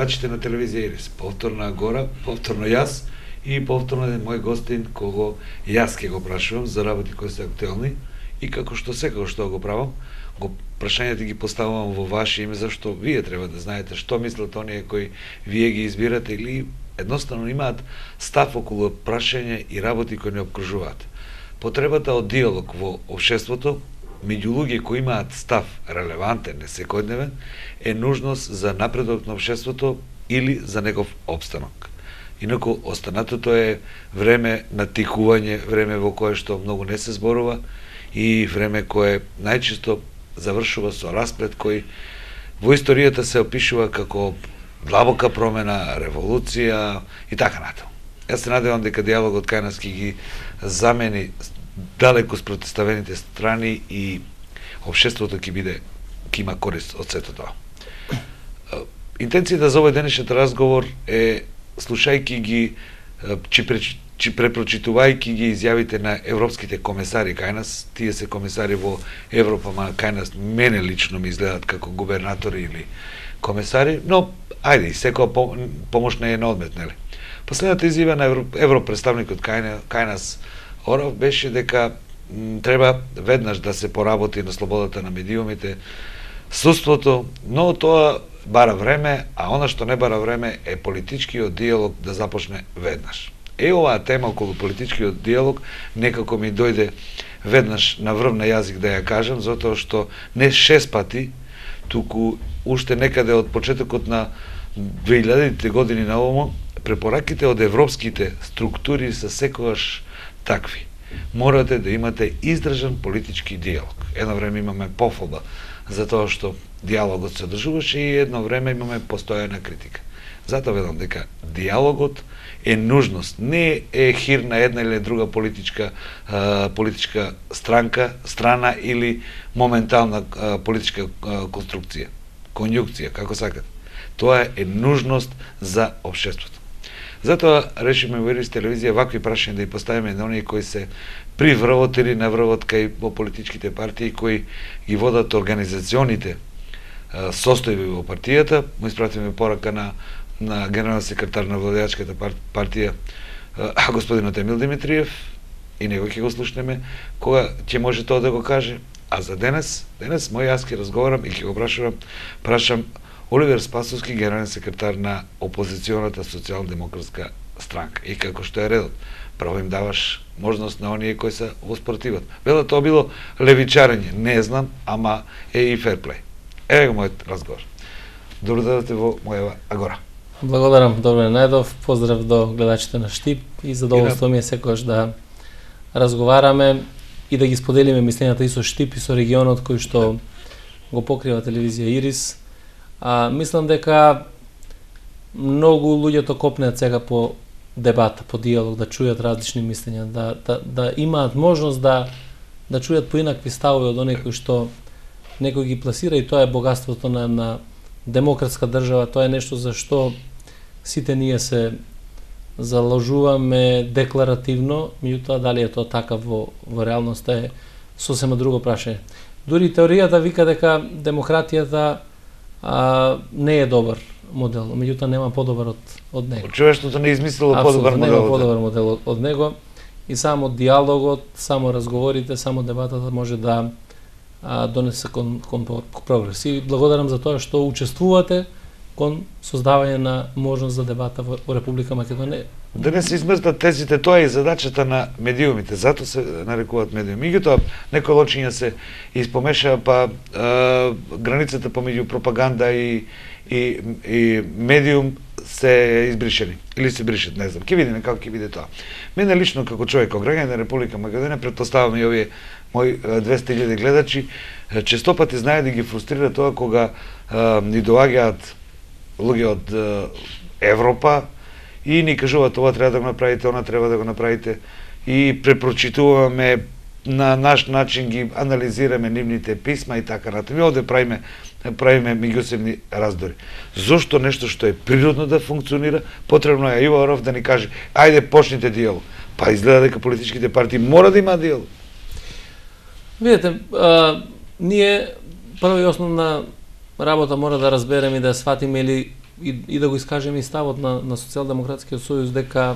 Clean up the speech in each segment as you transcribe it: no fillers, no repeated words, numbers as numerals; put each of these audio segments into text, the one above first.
гледачите на телевизија Ирис. Повторно Агора, повторно јас и повторно мој гостин кого јас ќе го прашувам за работи кои се актуелни и како што секако што го правам, прашањата ги поставувам во ваше име, зашто вие треба да знаете што мислат оние кои вие ги избирате или едноставно имаат став околу прашање и работи кои не обкружуваат. Потребата од диалог во општеството меѓу луѓе кои имаат став релевантен, не секојдневен, е нужност за напредок на општеството или за негов опстанок. Инаку останатото е време на тикување, време во кое што многу не се зборува и време кое најчесто завршува со расплет кој во историјата се опишува како длабока промена, револуција и така натаму. Јас се надевам дека диалогот кај нас ќе ги замени далеку спротивставените страни и општеството ќе има корист од сето тоа. Интенцијата за овој денешниот разговор е, слушајќи ги, препрочитувајќи ги изјавите на европските комесари кај нас, тие се комесари во Европа, ма кај нас мене лично ми изгледат како губернатори или комесари, но ајде, секоја помош не е на одмет, нели? Последната изјава на европредставникот кај нас Оров беше дека треба веднаш да се поработи на слободата на медиумите, судството, но тоа бара време, а она што не бара време е политичкиот диалог да започне веднаш. Оваа тема околу политичкиот диалог некако ми дојде веднаш на врв на јазик да ја кажам, затоа што не 6 пати, туку уште некаде од почетокот на 2000-те години на ово, препораките од европските структури се секогаш такви. Морате да имате издржан политички диалог. Едно време имаме пофалба за тоа што диалогот се одржуваше и едно време имаме постојана критика. Затоа ведам дека диалогот е нужност, не е хир на една или друга политичка страна или моментална политичка конструкција, конјукција, како сакате. Тоа е нужност за општеството. Затоа решиме во Ирис телевизија вакви прашања да ја поставиме на оние кои се при врвот или на врвот кај во политичките партии кои ги водат организационите состојби во партијата. Му испратиме порака на генерален секретар на владеачката партија господинот Емил Димитриев и него ќе го слушнеме кога ќе може тоа да го каже. А за денес мој јас ќе разговарам и ќе го прашам Оливер Спасовски, генерален секретар на опозиционата социјалдемократска странка. И како што е редот, право им даваш можност на оние кои се во спротиват. Вело тоа било левичарење, не знам, ама е и ферплей. Еве го мојот разговор. Добро дојдовте во мојава Агора. Благодарам, Добре Најдов, поздрав до гледачите на Штип и задоволство ми е секогаш да разговараме и да ги споделиме мислењата и со Штип и со регионот кој што го покрива телевизија Ирис. Мислам дека многу луѓето копнеат сега по дебата, по диалог, да чујат различни мислења, да имаат можност да чујат поинакви ставови од оние кои што некој ги пласира, и тоа е богатството на демократска држава. Тоа е нешто за што сите ние се заложуваме декларативно, меѓутоа дали е тоа така во реалноста е сосема друго прашање. Дури теоријата вика дека демократијата не е добар модел, меѓутоа нема подобар од него. Човештвото не измислило подобар модел. Нема подобар модел од него и само диалогот, само разговорите, само дебатата може да донесе кон прогрес. И благодарам за тоа што учествувате кон создавање на можност за дебата во Република Македонија. Да не се измртат тезите, тоа е задачата на медиумите, затоа се нарекуваат медиуми. Меѓутоа, некои лочиња се испомеша, па границата помеѓу пропаганда и медиум се избришени, или се бришат, не знам. Ќе видиме како ќе биде тоа. Мене лично, како човек, како граѓанин на Република Македонија, претпоставам и овие мои 200.000 гледачи, често пати знае да ги фрустрира тоа кога ни доаѓаат луѓе од Европа и ни кажуваат ова треба да го направите, она треба да го направите и препрочитуваме на наш начин, ги анализираме нивните писма и така натаму. Овде правиме меѓусебни раздори. Зошто нешто што е природно да функционира, потребно е Иво Оров да ни каже ајде почнете диалог. Па изгледа дека политичките партии мора да имаат диалог. Видете, ние прво и основна работа мора да разбереме и да сватиме или и да го искажеме и ставот на Социјалдемократскиот сојуз дека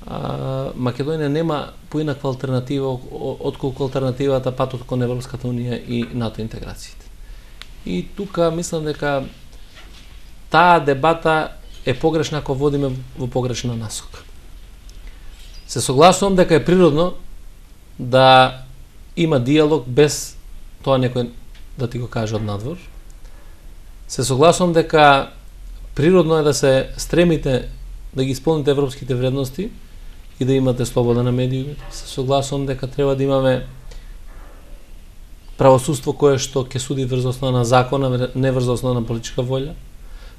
Македонија нема поинаква алтернатива отколку алтернативата патот кон Европската унија и НАТО интеграциите. И тука мислам дека таа дебата е погрешна ако водиме во погрешна насока. Се согласувам дека е природно да има диалог без тоа некој да ти го каже од надвор. Се согласувам дека природно е да се стремите да ги исполните европските вредности и да имате слобода на медиумите. Се согласувам дека треба да имаме правосудство кое што ќе суди врз основа на закона, не врз основа на политичка волја.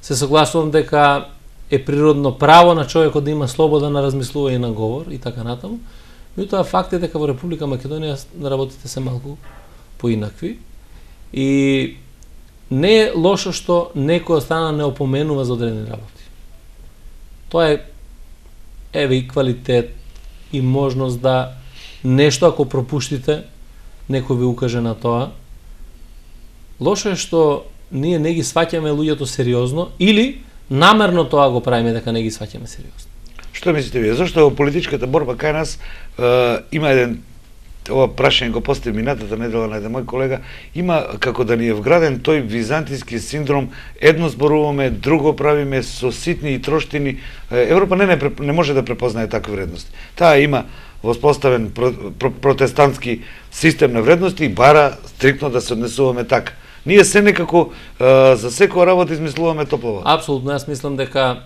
Се согласувам дека е природно право на човекот да има слобода на размислување и на говор и така натаму. Меѓутоа факт е дека во Република Македонија работите се малку поинакви и не е лошо што некој од страна не опоменува за одредени работи. Тоа е еве и квалитет и можност да нешто ако пропуштите некој ви укаже на тоа. Лошо е што ние не ги сваќаме луѓето сериозно или намерно тоа го правиме дека не ги сваќаме сериозно. Што мислите вие? Зошто во политичката борба кај нас има еден, ова прашање го постави минатата недела на еден мој колега, има како да ни е вграден тој византијски синдром, едно зборуваме, друго правиме со ситни и троштини. Европа не може да препознае такви вредности. Таа има воспоставен протестантски систем на вредности и бара стриктно да се однесуваме така. Ние се некако за секоја работа измислуваме топла вода. Апсолутно, јас мислам дека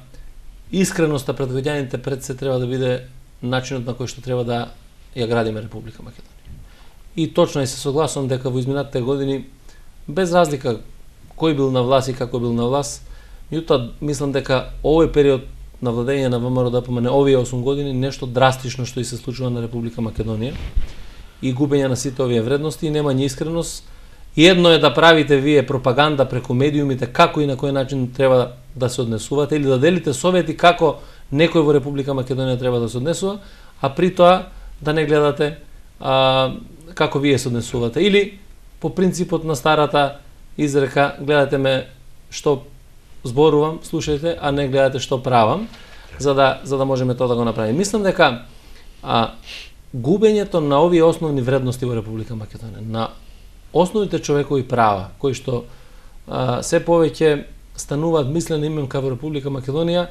искреноста пред граѓаните пред се треба да биде начинот на кој што треба да ја градиме Република Македонија. И точно и се согласувам дека во изминатите години, без разлика кој бил на власт и како бил на власт, меѓутоа мислам дека овој период на владење на ВМРО ДПМН, овие 8 години, нешто драстично што и се случува на Република Македонија и губење на сите овие вредности и немање искреност. И едно е да правите вие пропаганда преку медиумите како и на кој начин треба да се однесувате или да делите совети како некој во Република Македонија треба да се однесува, а при тоа да не гледате како вие се однесувате. Или по принципот на старата изрека, гледате ме што зборувам, слушајте, а не гледате што правам, за да можеме тоа да го направиме. Мислам дека губењето на овие основни вредности во Република Македонија, на основните човекови права, кои што се повеќе стануваат мислена именка во Република Македонија,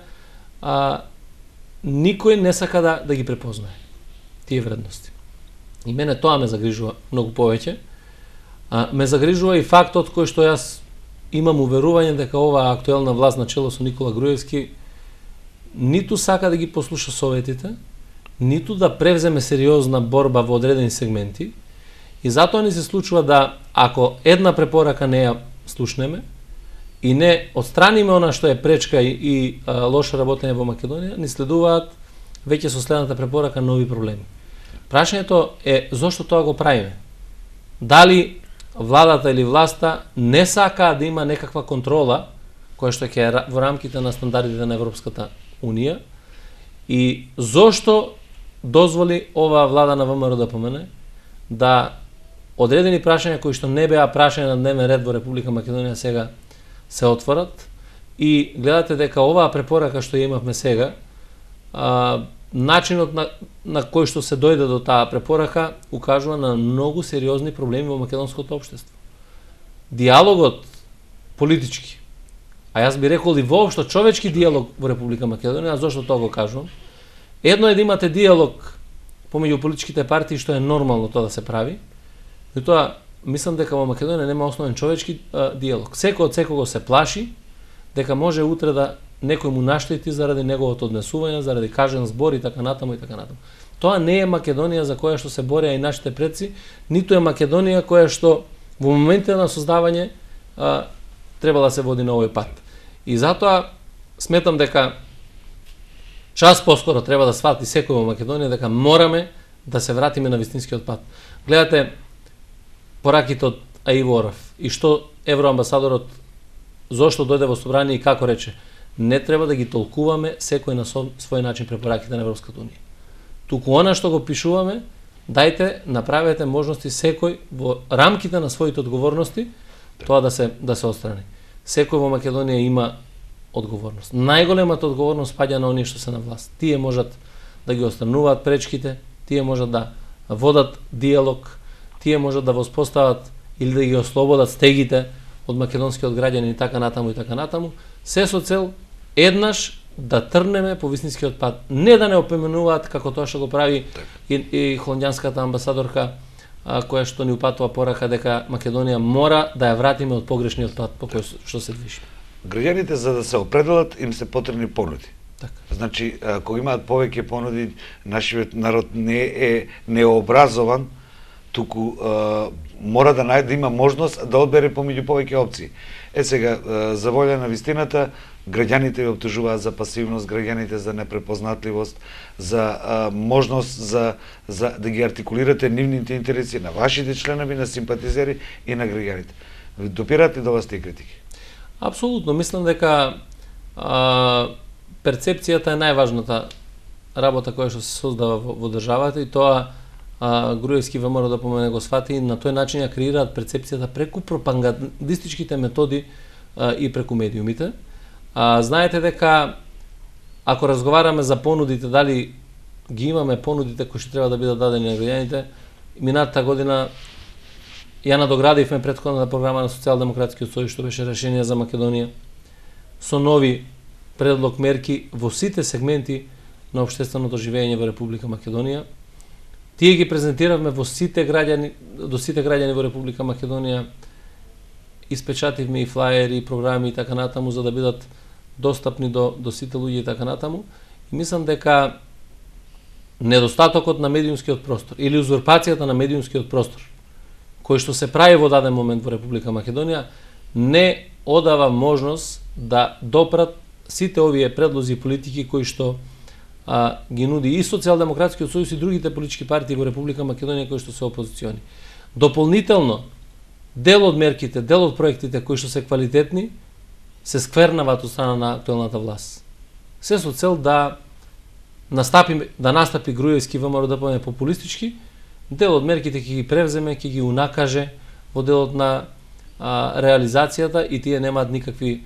никој не сака да ги препознае тие вредности. И мене тоа ме загрижува многу повеќе. Ме загрижува и фактот кој што јас имам уверување дека оваа актуелна власт на чело со Никола Груевски ниту сака да ги послуша советите, ниту да превземе сериозна борба во одредени сегменти. И затоа ни се случува да, ако една препорака не ја слушнеме и не отстраниме она што е пречка и лошо работење во Македонија, ни следуваат веќе со следната препорака нови проблеми. Прашањето е зошто тоа го правиме? Дали владата или власта не сака да има некаква контрола која што ќе во рамките на стандардите на Европската Унија и зошто дозволи оваа влада на ВМРО ДПМН да одредени прашања кои што не беа прашања на дневен ред во Република Македонија сега се отворат и гледате дека оваа препорака што имавме сега, начинот на кој што се дојде до таа препорака укажува на многу сериозни проблеми во македонското општество. Диалогот политички, а јас би рекол и воопшто човечки диалог во Република Македонија, зошто тоа го кажувам? Едно е да имате диалог помеѓу политичките партии, што е нормално тоа да се прави, и тоа мислам дека во Македонија нема основен човечки диалог. Секој од секого се плаши дека може утре да некој му наштети заради неговото однесување, заради кажен збор и така натаму и така натаму. Тоа не е Македонија за која што се бореа и нашите предци, ниту е Македонија која што во моментите на создавање треба да се води на овој пат. И затоа сметам дека час поскоро треба да свати секој во Македонија дека мораме да се вратиме на вистинскиот пат. Гледате пораките од Аиво Орав и што евроамбасадорот зошто дојде во собрание и како рече, не треба да ги толкуваме секој на свој начин препораките на Европската Унија. Туку она што го пишуваме, дајте, направете можности секој во рамките на своите одговорности тоа да се отстрани. Секој во Македонија има одговорност. Најголемата одговорност паѓа на оние што се на власт. Тие можат да ги отстрануваат пречките, тие можат да водат диалог, тие можат да воспостават или да ги ослободат стегите од македонскиот граѓани и така натаму и така натаму, се со цел еднаш да трнеме по вистинскиот пат. Не да не опоменуваат како тоа што го прави и холандјанската амбасадорка, која што ни упатува порака дека Македонија мора да ја вратиме од погрешниот пат по кој што се движи. Граѓаните за да се определат им се потребни понуди. Така. Значи, кога имаат повеќе понуди, нашиот народ не е необразован, туку мора да има можност да одбере помеѓу повеќе опции. Сега, за волја на вистината, граѓаните ја обтужуваат за пасивност, граѓаните за непрепознатливост, за можност да ги артикулирате нивните интереси на вашите членови, на симпатизери и на граѓаните. Допирате до вас тие критики? Апсолутно, мислам дека перцепцијата е најважната работа која што се создава во државата и тоа Груевски ВМРО да помене го свати, на тој начин ја креираат перцепцијата преку пропагандистичките методи и преку медиумите. Знаете дека ако разговараме за понудите, дали ги имаме понудите кои што треба да бидат дадени на граѓаните, минатата година ја надоградивме претходната програма на Социјалдемократскиот сојуз што беше решение за Македонија со нови предлог мерки во сите сегменти на општественото живење во Република Македонија. Тие ги презентиравме во сите граѓани, до сите граѓани во Република Македонија, испечативме и флаери, и програми и така натаму за да бидат достапни до сите луѓе и така натаму. И мислам дека недостатокот на медиумскиот простор или узурпацијата на медиумскиот простор кој што се прави во даден момент во Република Македонија не одава можност да допрат сите овие предлози и политики кои што ги нуди и Социјалдемократскиот сојуз и другите политички партии во Република Македонија кои што се опозициони. Дополнително, дел од мерките, дел од проектите кои што се квалитетни, се сквернават од страна на актуелната власт. Се со цел да настапи Груевски ВМРО да поне популистички, дел од мерките ќе ги превземе, ќе ги унакаже во делот на реализацијата и тие немаат никакви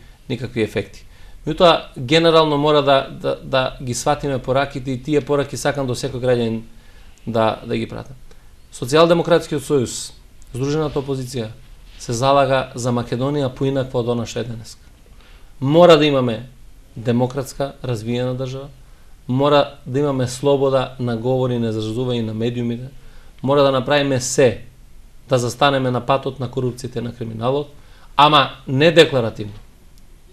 ефекти. Меѓутоа, генерално мора да ги сватиме пораките и тие пораки сакам до секој граѓанин да ги пратат. Социјалдемократскиот сојуз, Здружената опозиција, се залага за Македонија поинаква од она што е денеска. Мора да имаме демократска, развиена држава, мора да имаме слобода на говори и на изразување на медиумите, мора да направиме се да застанеме на патот на корупцијата и на криминалот, ама не декларативно,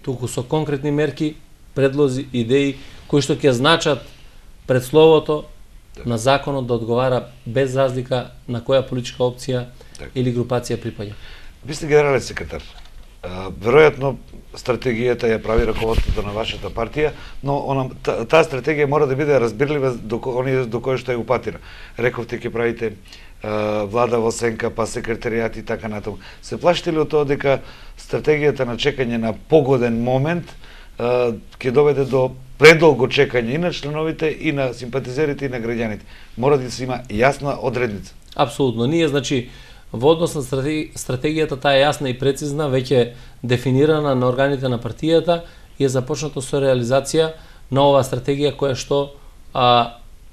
туку со конкретни мерки, предлози, идеи, кои што ќе значат пред словото на законот да одговара без разлика на која политичка опција или групација припаѓа. Ви сте генерален секретар. Веројатно стратегијата ја прави раководството на вашата партија, но таа стратегија мора да биде разбирлива до кој што ја упатира. Рековте ќе правите влада во сенка, па секретаријат и така натаму. Се плашите ли од тоа дека стратегијата на чекање на погоден момент ќе доведе до предолго чекање и на членовите, и на симпатизерите, и на граѓаните? Мора да се има јасна одредница. Апсолутно. Ние, значи, во однос на стратегијата, таа е јасна и прецизна, веќе дефинирана на органите на партијата и е започнато со реализација на оваа стратегија која што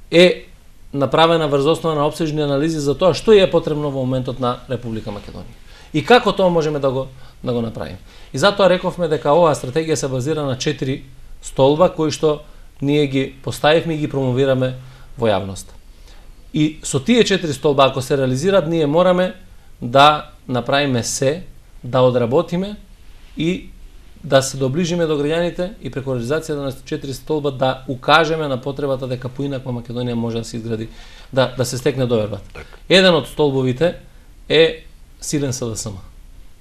е направена врз основа на опсежни анализи за тоа што е потребно во моментот на Република Македонија. И како тоа можеме да го направиме. И затоа рековме дека оваа стратегија се базира на 4 столба кои што ние ги поставивме и ги промовираме во јавноста. И со тие 4 столба, ако се реализираат, ние мораме да направиме се, да одработиме и да се доближиме до граѓаните и преку реализацијата на 4 столба да укажеме на потребата дека поинаква Македонија може да се изгради, да се стекне довербата. Еден од столбовите е силен СДСМ.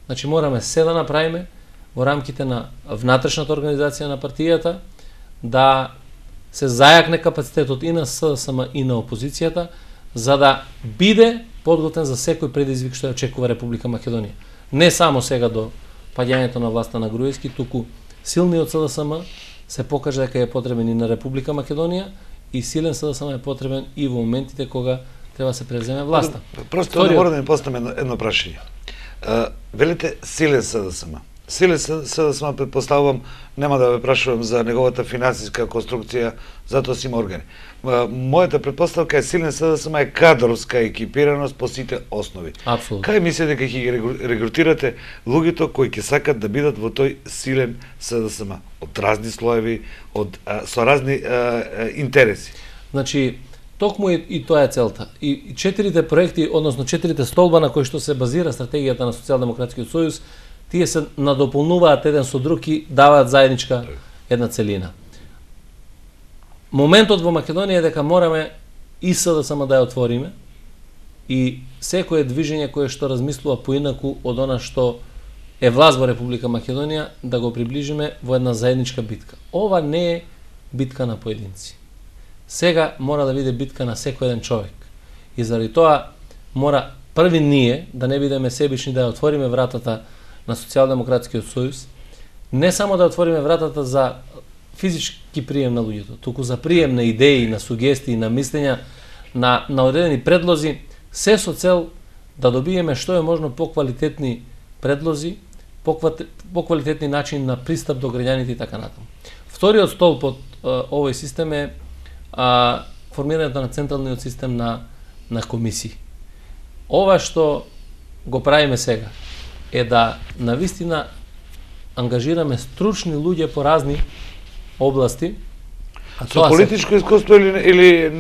Значи мораме се да направиме во рамките на внатрешната организација на партијата, да се зајакне капацитетот и на СДСМ и на опозицијата, за да биде подготвен за секој предизвик што ја очекува Република Македонија. Не само сега до паѓањето на власта на Груевски, туку силниот СДСМ се покаже дека е потребен и на Република Македонија и силен СДСМ е потребен и во моментите кога треба да се превземе власта. Просто да мора да ми поставам едно прашање. Велите силен СДСМ. Силен СДСМ, предпоставувам, нема да ве прашувам за неговата финансиска конструкција, затоа си има органи. Мојата предпоставка е Силен СДСМ е кадровска екипираност по сите основи. Апсолутно. Кај мислите дека ќе ги регрутирате луѓето кои ќе сакат да бидат во тој силен СДСМ? Од разни слоеви, со разни интереси. Значи, токму и тоа е целта. И четирите проекти, односно четирите столба на кои што се базира стратегијата на Социјалдемократскиот сојуз, тие се надополнуваат еден со друг и даваат заедничка една целина. Моментот во Македонија е дека мораме и СДСМ да ја отвориме и секое движење кое што размислува поинаку од она што е власт во Република Македонија да го приближиме во една заедничка битка. Ова не е битка на поединци. Сега мора да биде битка на секој еден човек. И заради тоа мора први ние да не бидеме себични, да ја отвориме вратата на Социјалдемократскиот сојуз, не само да отвориме вратата за физички прием на луѓето, туку за прием на идеи, на сугестии, на мислења, на одредени предлози, се со цел да добиеме што е можно поквалитетни предлози, поквалитетни начин на пристап до граѓаните и така натаму. Вториот столб од овој систем е формирањето на централниот систем на комисии. Ова што го правиме сега е да навистина ангажираме стручни луѓе по разни области. Со политичко искуство или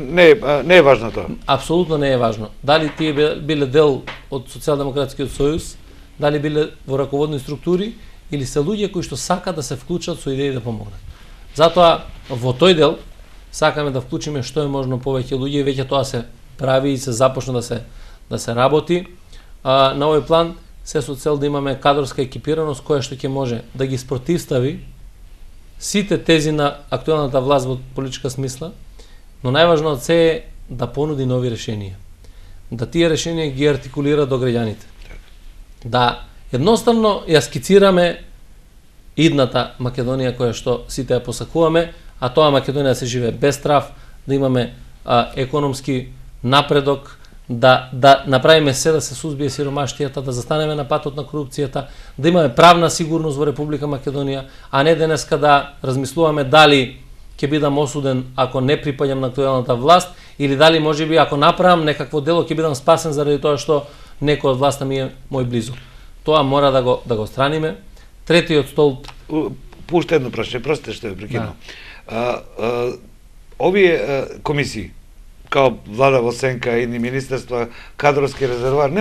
не е важно тоа? Апсолутно не е важно. Дали тие биле дел од Социјалдемократскиот сојуз, дали биле во раководни структури, или се луѓе кои што сакаат да се вклучат со идеи да помогнат. Затоа во тој дел сакаме да вклучиме што е можно повеќе луѓе и веќе тоа се прави и се започна да се работи. На овој план се со цел да имаме кадровска екипираност која што ќе може да ги спротивстави сите тези на актуелната власт во политичка смисла, но најважно од се е да понуди нови решенија. Да тие решенија ги артикулира до граѓаните. Да едноставно ја скицираме идната Македонија која што сите ја посакуваме, а тоа Македонија се живее без страв, да имаме економски напредок, да направиме се да се сузбие сиромаштијата, да застанеме на патот на корупцијата, да имаме правна сигурност во Република Македонија, а не денеска да размислуваме дали ќе бидам осуден ако не припаѓам на актуелната власт, или дали можеби ако направам некакво дело ќе бидам спасен заради тоа што некој од власта ми е мој близу. Тоа мора да го страниме. Третиот столб. Пуште едно прашање, простите што ве прекинувам. Овие комисии, као влада во сенка, едни министерства, кадровски резервоар, не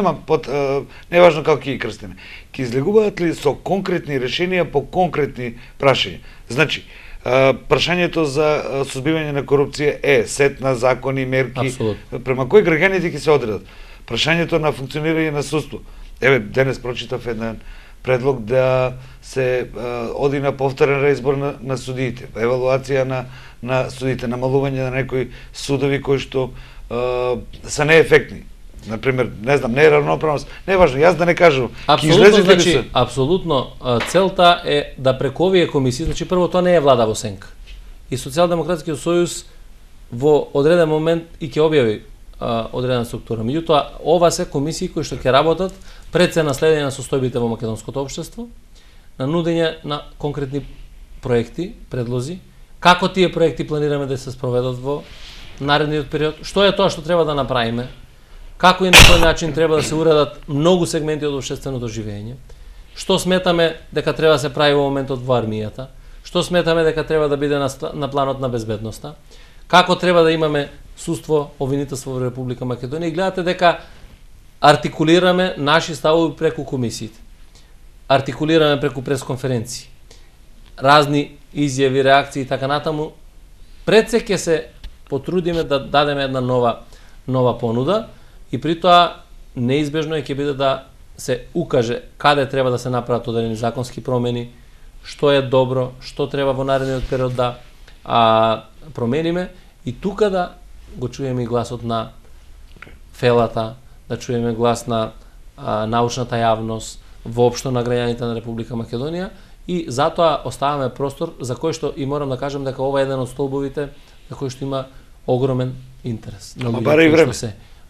е важно како ќе ги крстиме. Ќе излегуваат ли со конкретни решенија по конкретни прашања? Значи, прашањето за сузбивање на корупција е сет на закони, мерки, Абсолютно. Према кои граѓаните ќе се одредат? Прашањето на функционирање на судство. Еве, денес прочитав еден предлог да се оди на повторен реизбор на судиите, евалуација на судиите, намалување на некои судови кои што се неефектни. Например, не знам, не е равноправност, не е важно, јас да не кажам. Апсолутно, значи, апсолутно целта е да преку овие комисии, значи прво тоа не е влада во сенка. И Социјалдемократскиот сојуз во одреден момент и ќе објави одредена структура. Меѓутоа, ова се комисии кои што ќе работат пред се наследење на состојбите во македонското општество, на нудење на конкретни проекти, предлози, како тие проекти планираме да се спроведат во наредниот период, што е тоа што треба да направиме, како и на кој начин треба да се уредат многу сегменти од општественото живење, што сметаме дека треба да се прави во моментот во армијата, што сметаме дека треба да биде на планот на безбедноста, како треба да имаме судство, обвинителство во Република Македонија, и гледате дека артикулираме наши ставови преку комисиите. Артикулираме преку пресконференции. Разни изјави, реакции и така натаму. Пред се ќе се потрудиме да дадеме една нова понуда и при тоа неизбежно ќе биде да се укаже каде треба да се направат одредени законски промени, што е добро, што треба во наредниот период да промениме и тука да го чуеме и гласот на фелата, да чуеме глас на научната јавност, воопшто на граѓаните на Република Македонија и затоа оставаме простор за кој што и морам да кажам дека ова е еден од столбовите за кој што има огромен интерес. Ама бара и време.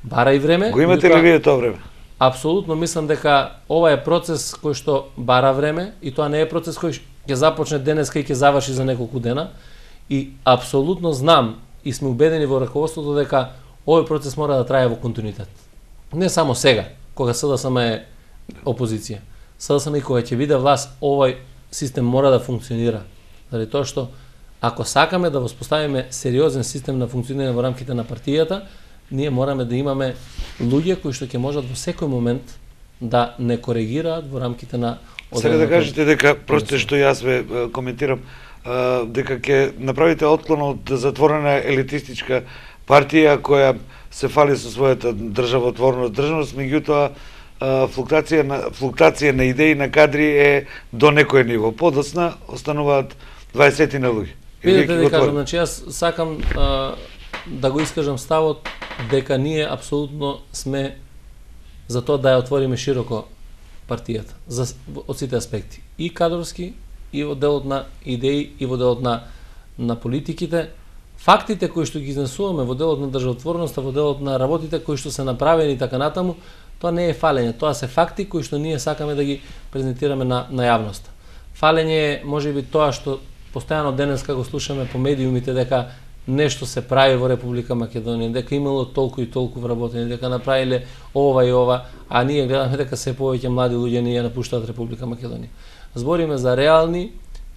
Бара и време. Го имате ли вие тоа време? апсолутно мислам дека ова е процес кој што бара време и тоа не е процес кој ќе започне денеска и ќе заврши за неколку дена. И апсолутно знам и сме убедени во раководството дека овој процес мора да трае во континуитет. Не само сега, кога СДСМ е опозиција. СДСМ и кога ќе биде власт, овој систем мора да функционира. Заради тоа што ако сакаме да воспоставиме сериозен систем на функционирање во рамките на партијата, ние мораме да имаме луѓе кои што ќе можат во секој момент да не коригираат во рамките на Сега да кажете дека просто што јас ве коментирам дека ќе направите отклон од затворена елитистичка партија која се фали со својата државност, меѓутоа флуктација на идеи на кадри е до некој ниво. Подоцна остануваат 20 на луѓе. Видете да кажам, значи јас сакам да го искажам ставот дека ние апсолутно сме за тоа да ја отвориме широко партијата од сите аспекти, и кадровски, и во делот на идеи, и во делот на политиките. Фактите кои што ги изнесуваме во делот на државотворноста, во делот на работите кои што се направени и така натаму, тоа не е фалење, тоа се факти кои што ние сакаме да ги презентираме на јавноста. Фалење е можеби тоа што постојано денеска го слушаме по медиумите дека нешто се прави во Република Македонија, дека имало толку и толку вработени, дека направиле ова и ова, а ние гледаме дека се повеќе млади луѓе не ја напуштаат Република Македонија. Збориме за реални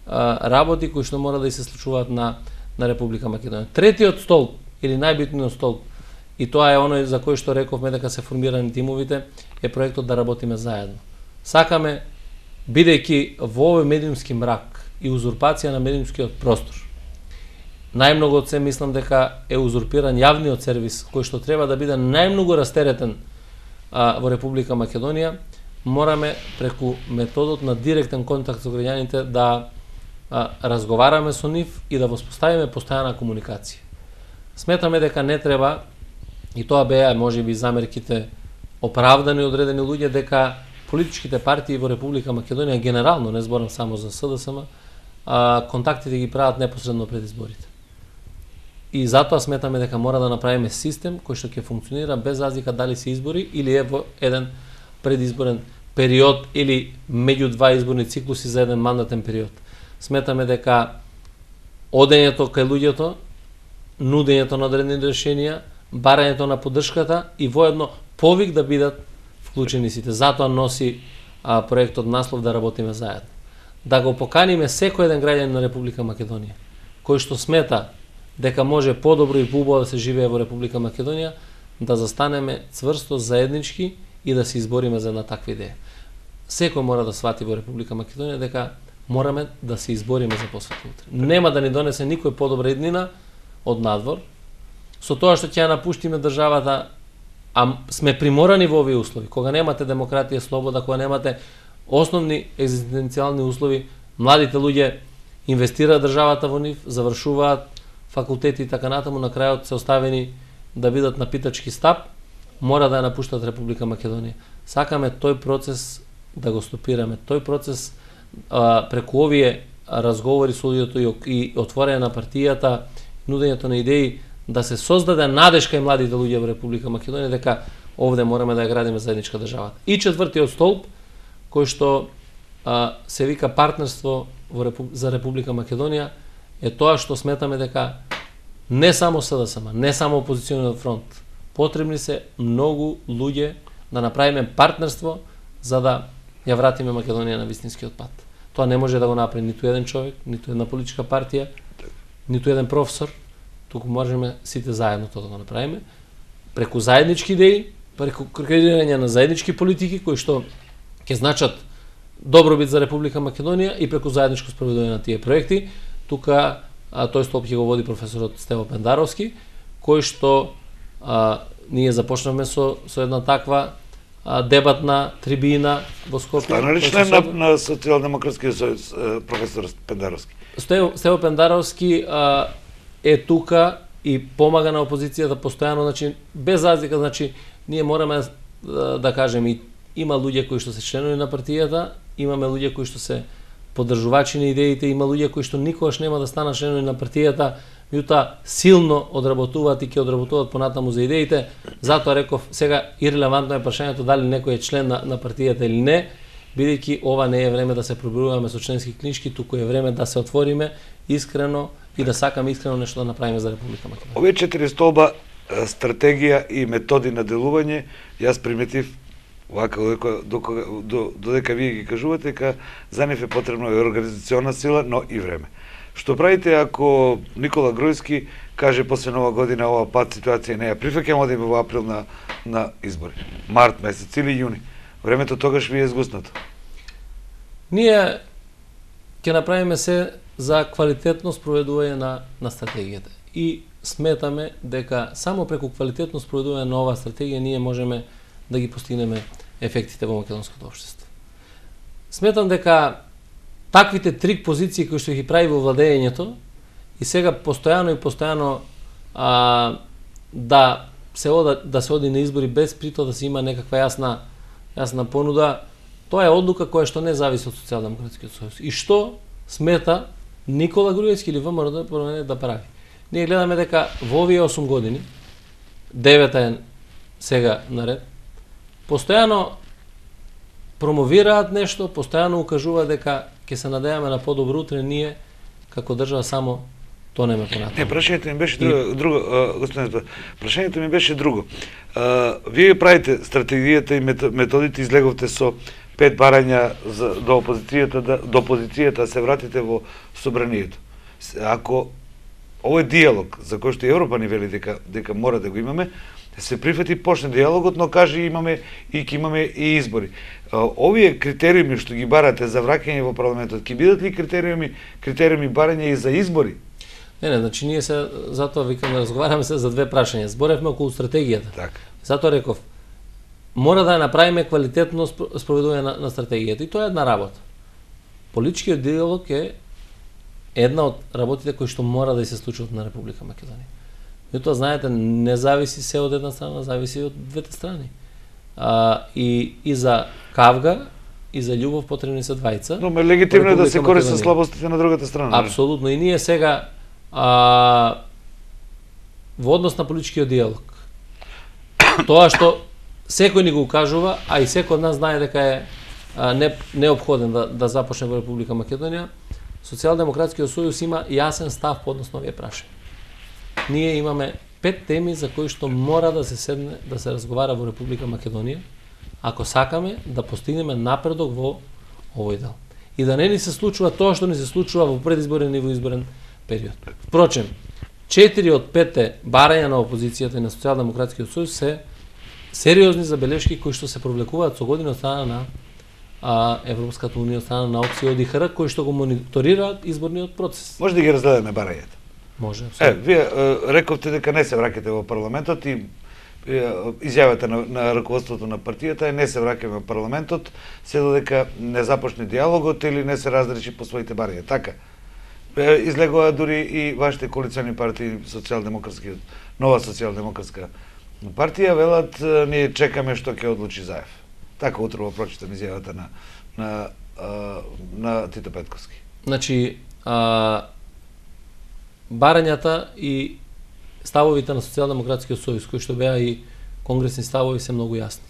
работи кои што мора да се случуваат на Република Македонија. Третиот столб или најбитниот столб, и тоа е оној за кој што рековме дека се формирани тимовите, е проектот да работиме заедно. Сакаме, бидејќи во овој медиумски мрак и узурпација на медиумскиот простор, најмногу од се мислам дека е узурпиран јавниот сервис, кој што треба да биде најмногу растеретен во Република Македонија, мораме преку методот на директен контакт со граѓаните да разговараме со нив и да воспоставиме постојана комуникација. Сметаме дека не треба, и тоа беа можеби замерките оправдани одредени луѓе, дека политичките партии во Република Македонија генерално, не зборам само за СДСМ, контактите ги прават непосредно пред изборите. И затоа сметаме дека мора да направиме систем кој што ќе функционира без разлика дали се избори или е во еден предизборен период или меѓу два изборни циклуси за еден мандатен период. Сметаме дека одењето кај луѓето, нудењето на одредени решенија, барањето на поддршката и воедно повик да бидат вклучени сите. Затоа носи проектот наслов да работиме заедно. Да го поканиме секој еден граѓанин на Република Македонија, кој што смета дека може подобро и поубаво да се живее во Република Македонија, да застанеме цврсто заеднички и да се избориме за една таква идеја. Секој мора да свати во Република Македонија дека мораме да се избориме за посветно утре. Нема да ни донесе никој подобра иднина од надвор, со тоа што ќе ја напуштиме државата, а сме приморани во овие услови. Кога немате демократија, слобода, кога немате основни екзистенцијални услови, младите луѓе инвестираат државата во нив, завршуваат факултети и така натаму, на крајот се оставени да бидат на питачки стап, мора да ја напуштат Република Македонија. Сакаме тој процес да го стопираме. Тој процес преку овие разговори со луѓето и отворење на партијата, нудењето на идеи, да се создаде надеж кај младите луѓе во Република Македонија дека овде мораме да ја градиме заедничка држава. И четвртиот столб, кој што се вика партнерство за Република Македонија, е тоа што сметаме дека не само СДСМ, не само опозициониот фронт, потребни се многу луѓе да направиме партнерство за да ја вратиме Македонија на вистинскиот пат. Тоа не може да го направи ниту еден човек, ниту една политичка партија, ниту еден професор, туку можеме сите заедно тоа да го направиме, преку заеднички идеи, преку креирање на заеднички политики кои што ќе значат добробит за Република Македонија и преку заедничко спроведување на тие проекти. Тука тој столб ќе го води професорот Стево Пендаровски, кој што ние започнавме со една таква дебатна трибина во Скопје. Стана ли член на Социјалдемократскиот сојуз професор Пендаровски? Стево Пендаровски е тука и помага на опозицијата постојано, значи без разлика, значи ние мораме да кажеме, има луѓе кои што се членови на партијата, имаме луѓе кои што се поддржувачи на идеите, има луѓе кои што никогаш нема да станат членови на партијата, меѓутоа силно одработуваат и ќе одработуваат понатаму за идеите. Затоа реков, сега ирелевантно е прашањето дали некој е член на партијата или не, бидејќи ова не е време да се пробиваме со членски книжки, туку е време да се отвориме искрено и да сакаме искрено нешто да направиме за Република Македонија. Овие 4 столба, стратегија и методи на делување, јас приметив вака додека вие ги кажувате дека за нив е потребно и организациона сила, но и време. Што правите ако Никола Груевски каже после Нова година ова пат ситуација не ја прифаќам, одиме во април на избори, март месец или јуни? Времето тогаш ви е згуснато. Ние ќе направиме се за квалитетно спроведување на стратегијата и сметаме дека само преку квалитетно спроведување на оваа стратегија ние можеме да ги постигнеме ефектите во македонското општество. Сметам дека таквите трик позиции кои што ги прави во владењето и сега постојано да се оди на избори без прито да се има некаква јасна понуда, тоа е одлука која што не зависи од Социјалдемократскиот сојуз. И што смета Никола Груевски или ВМРО да прави? Ние гледаме дека во овие 8 години, 9 е сега наред, постојано промовираат нешто, постојано укажуваат дека ќе се надеваме на подобро утре, ние како држава само тонеме понатаму. Не, прашањето ми беше друго, господин, прашањето ми беше друго. Вие правите стратегијата и методите, излеговте со 5 барања до опозицијата се вратите во собранието. Ако овој диалог за кој што Европа ни вели дека мора да го имаме, се прифати, почне диалогот, но каже имаме и избори. Овие критериуми што ги барате за враќање во парламентот, ќе бидат ли критериуми барање и за избори? Не, значи ние се затоа викаме разговараме се за две прашања. Зборевме околу стратегијата. Така. Затоа реков, мора да направиме квалитетно спроведување на стратегијата и тоа е една работа. Политичкиот диалог е една од работите кои што мора да се случат на Република Македонија. Тоа, знаете, не зависи се од една страна, зависи од двете страни. И за кавга, и за љубов потребни се двајца. Но легитимно е да се користат слабостите на другата страна. Апсолутно. И ние сега во однос на политичкиот диалог, тоа што секој ни го кажува, а и секој од нас знае дека е неопходен да започне во Република Македонија, Социјалдемократскиот сојуз има јасен став по однос на овие прашања. Ние имаме 5 теми за кои што мора да се седне, да се разговара во Република Македонија, ако сакаме да постигнеме напредок во овој дел. И да не ни се случува тоа што ни се случува во предизборен и во изборен период. Впрочем, 4 од 5 барања на опозицијата и на Социјалдемократскиот сојуз се сериозни забелешки кои што се провлекуваат со години од страна на Европската унија, од страна на опција од ИХР, кои што го мониторираат изборниот процес. Може да ги разгледаме барањата? Може. Вие рековте дека не се враќате во парламентот и изјавата на раководството на партијата е не се враќаме во парламентот, се додека не започне диалогот или не се разреши по своите барања. Така. Излегува дури и вашите коалициони партии, Нова социјалдемократска партија, велат ние чекаме што ќе одлучи Заев. Така утрово прочитам изјавата на Тито Петковски. Значи, барањата и ставовите на Социјалдемократскиот сојуз, кои што беа и конгресни ставови, се многу јасни.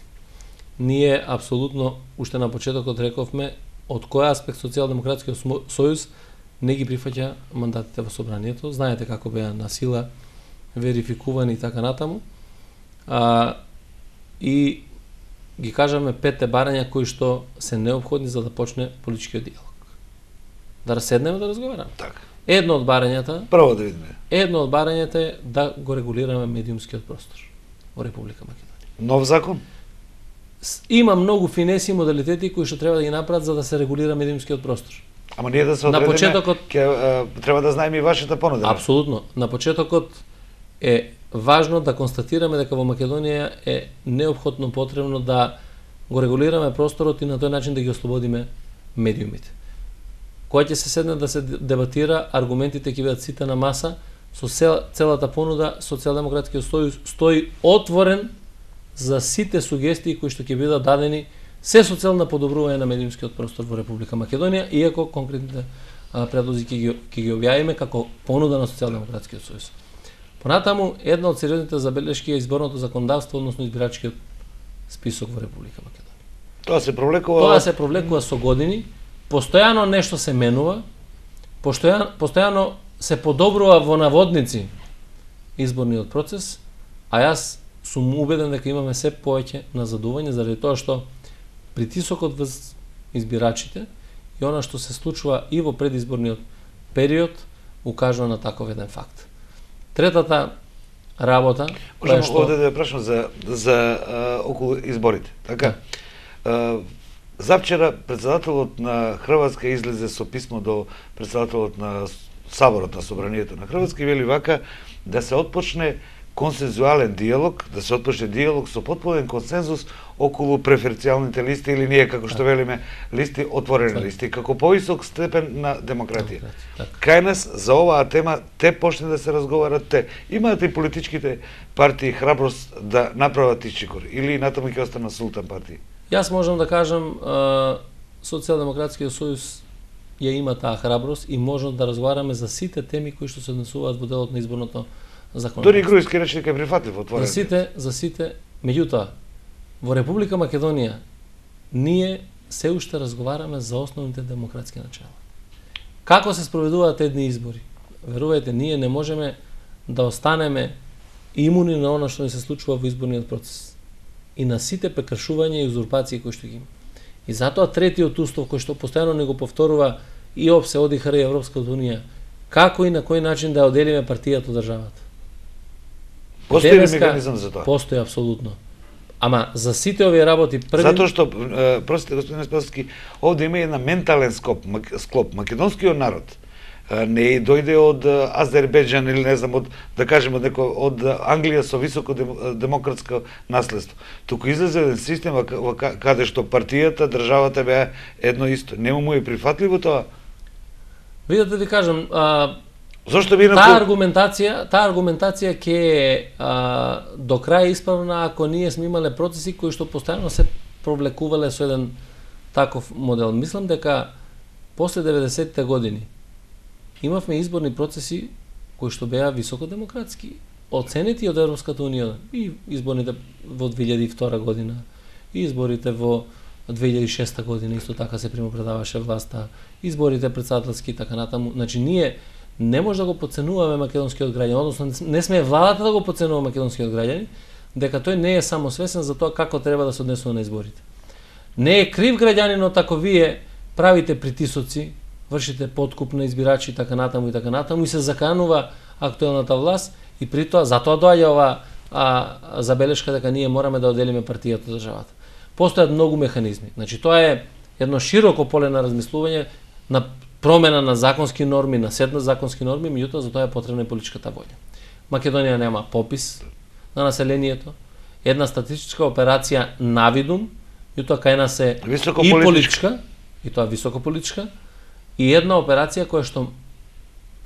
Ние апсолутно, уште на почетокот рековме, од кој аспект Социјалдемократскиот сојуз не ги прифаќа мандатите во собранието. Знаете како беа на сила верификувани и така натаму. И ги кажаме 5 барања кои што се неопходни за да почне политичкиот диалог. Да седнеме да разговараме. Така. Едно од барањата, прво да видиме. Едно од барањата е да го регулираме медиумскиот простор во Република Македонија. Нов закон? Има многу финеси и модалитети кои што треба да ги направат за да се регулира медиумскиот простор. Ама ние да се одредиме, на почетокот треба да знаеме и вашата понуда. Апсолутно. На почетокот е важно да констатираме дека во Македонија е неопходно потребно да го регулираме просторот и на тој начин да ги ослободиме медиумите. Кога ќе се седне да се дебатира, аргументите ќе бидат сите на маса, со целата понуда Социјалдемократскиот сојуз стои отворен за сите сугестии кои што ќе бидат дадени се со цел на подобрување на медиумскиот простор во Република Македонија, иако конкретните предлози ќе ги објавиме како понуда на Социјалдемократскиот сојуз. Понатаму, една од сериозните забелешки е изборното законодавство, односно избирачкиот список во Република Македонија. Тоа се провлекува со години, постојано нешто се менува, постојано се подобрува во наводници изборниот процес, а јас сум убеден дека имаме се повеќе назадување заради тоа што притисокот врз избирачите и она што се случува и во предизборниот период укажува на таков еден факт. Третата работа Можам овде да ја прашам за околу изборите. Така. Завчера председателот на Хрватска излезе со писмо до председателот на Саборот на Собранието на Хрватска и вели вака да се отпочне консензуален диалог, да се отпочне диалог со потполен консензус околу преференцијалните листи или ние како што велиме листи отворени листи, како повисок степен на демократија. Кај нас за оваа тема те почне да се разговарат те. Имаат и политичките партии храброст да направат исчекор или натаму ќе остана султан партии? Јас можам да кажам Социјалдемократскиот сојуз ја има таа храброст и можам да разговараме за сите теми кои што се однесуваат во делот на изборното законодавство. Дори Груевски рече дека е прифатлив отворен. За сите, меѓутоа во Република Македонија ние се уште разговараме за основните демократски начала. Како се спроведуваат едни избори? Верувајте, ние не можеме да останеме имуни на она што ни се случува во изборниот процес и на сите прекршувања и узурпации кои што ги има. И затоа третиот устав кој што постојано не го повторува и ОПСЕ, ОДИХР и Европската унија, како и на кој начин да оделиме партијата од државата. Постои ли механизам за тоа? Постои апсолутно. Ама за сите овие работи Затоа што, простите господин Спасовски, овде има една ментален склоп. Македонскиот народ не дојде од Азербејџан или не знам од, да кажеме, од Англија со високо демократско наследство. Туку излезе еден систем каде што партијата, државата беа едно исто. Нема му е прифатливо тоа? Видете ви кажам, зошто би таа аргументација ќе е до крај исправна ако ние сме имале процеси кои што постојано се провлекувале со еден таков модел. Мислам дека после 90-те години имавме изборни процеси кои што беа високо демократски, оценети од Европската унија, и изборите во 2002 година, и изборите во 2006 година исто така се примопредаваше власта, изборите председателски и така натаму. Значи ние не може да го подценуваме македонскиот граѓанин, односно не сме владата да го подценува македонскиот граѓанин, дека тој не е само свесен за тоа како треба да се однесува на изборите. Не е крив граѓанинот ако вие правите притисоци, вршите подкуп на избирачи и така натаму и се заканува актуелната власт и при тоа затоа доаѓа ова забелешка дека ние мораме да оделиме партијата од државата. Постојат многу механизми. Значи тоа е едно широко поле на размислување, на промена на законски норми, на сет на законски норми, меѓутоа за тоа е потребна и политичката волја. Македонија нема попис на населението, една статистичка операција навидум, меѓутоа кај нас е и политичка, и тоа високо политичка, и една операција која што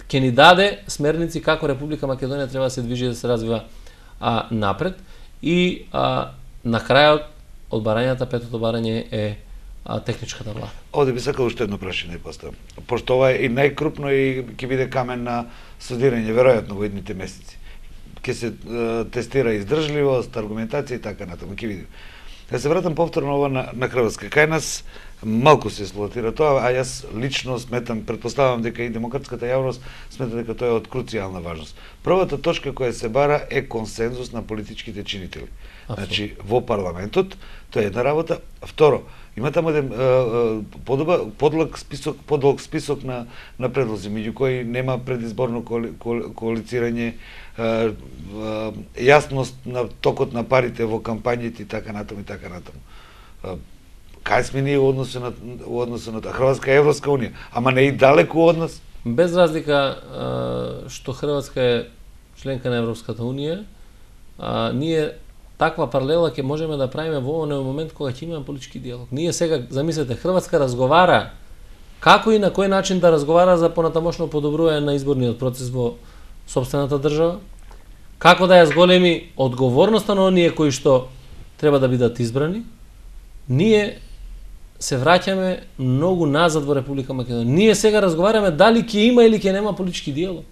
ќе ни даде смерници како Република Македонија треба да се движи и да се развива напред. И на крајот од барањата, петото барање е техничката влада. Овде би сакал уште едно прашање да поставам. Пошто ова е и најкрупно и ќе биде камен на студирање веројатно во идните месеци. Ќе се тестира издржливост, аргументација и така натаму, ќе видиме. Да се вратам повторно ова на Хрватска. Кај нас малку се експлоатира тоа, а јас лично сметам, предпоставам дека и демократската јавност смета дека тоа е од круцијална важност. Првата точка која се бара е консензус на политичките чинители. Значи, во парламентот, тоа е една работа. Второ, има таму еден подлог список на предлози, меѓу кои нема предизборно коалицирање, јасност на токот на парите во кампањите и така натаму и така натаму. Кај сме ние во односу на Хрватска и Европска унија, ама не и далеку од нас? Без разлика што Хрватска е членка на Европската унија, ние таква паралела ќе можеме да правиме во овој момент кога ќе имаме политички диалог. Ние сега, замислете, Хрватска разговара како и на кој начин да разговара за понатамошно подобрување на изборниот процес во сопствената држава, како да ја зголеми одговорноста на оние кои што треба да бидат избрани. Ние се враќаме многу назад во Република Македонија. Ние сега разговараме дали ќе има или ќе нема политички диалог.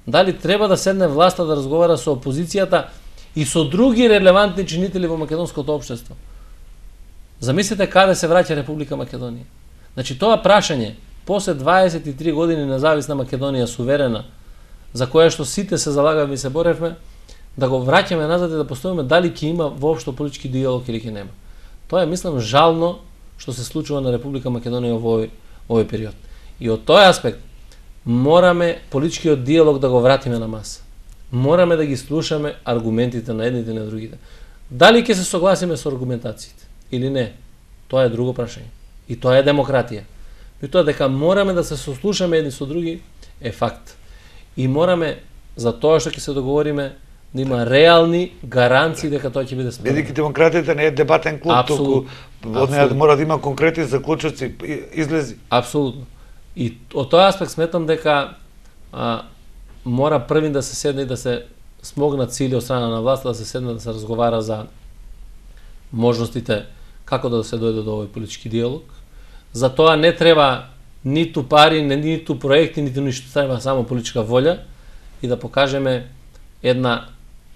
Дали треба да седне власта да разговара со опозицијата и со други релевантни чинители во македонското општество. Замислете каде се враќа Република Македонија. Значи тоа прашање после 23 години независна Македонија суверена, за која што сите се залагавме и се боревме, да го враќаме назад и да поставиме дали ќе има воопшто политички диалог или ќе нема. Тоа е, мислам, жално што се случува на Република Македонија во овој период. И од тој аспект мораме политичкиот диалог да го вратиме на маса. Мораме да ги слушаме аргументите на едните и на другите. Дали ќе се согласиме со аргументациите или не, тоа е друго прашање. И тоа е демократија. И тоа дека мораме да се сослушаме едни со други е факт. И мораме за тоа што ќе се договориме да има реални гаранции дека тоа ќе биде спроведено. Бидејќи демократијата не е дебатен клуб, туку од неја мора да има конкретни заклучоци, излези. Апсолутно. И од тој аспект сметам дека мора првин да се седне и да се смогнат сили од страна на власта, да се седне да се разговара за можностите како да се дојде до овој политички диалог. За тоа не треба ниту пари, ниту проекти, ниту ништо, треба само политичка волја и да покажеме една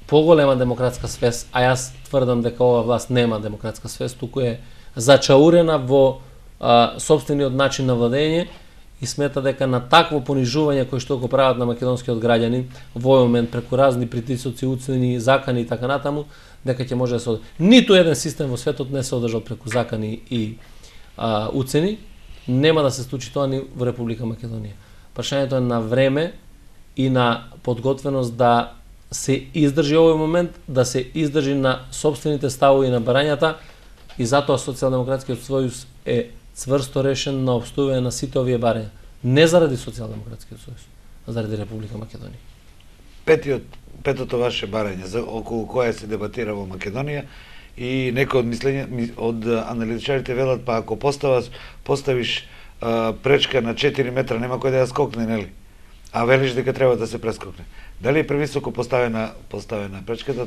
поголема демократска свест, а јас тврдам дека ова власт нема демократска свест, туку е зачаурена во сопствениот начин на владење и смета дека на такво понижување кој што го прават на македонскиот граѓанин во овој момент преку разни притисоци, уцени, закани и така натаму, дека ќе може да се ниту еден систем во светот не се одржал преку закани и уцени, нема да се случи тоа ни во Република Македонија. Прашањето е на време и на подготвеност да се издржи овој момент, да се издржи на сопствените ставови на барањата и затоа Социјалдемократскиот сојуз е цврсто решен на опстување на сите овие барања. Не заради Социјалдемократскиот сојуз, а заради Република Македонија. Петото ваше барање за околу која се дебатира во Македонија и некои од мислења од аналитичарите велат па ако поставиш пречка на 4 метра нема кој да ја скокне, нели? А велиш дека треба да се прескокне. Дали е превисоко поставена пречката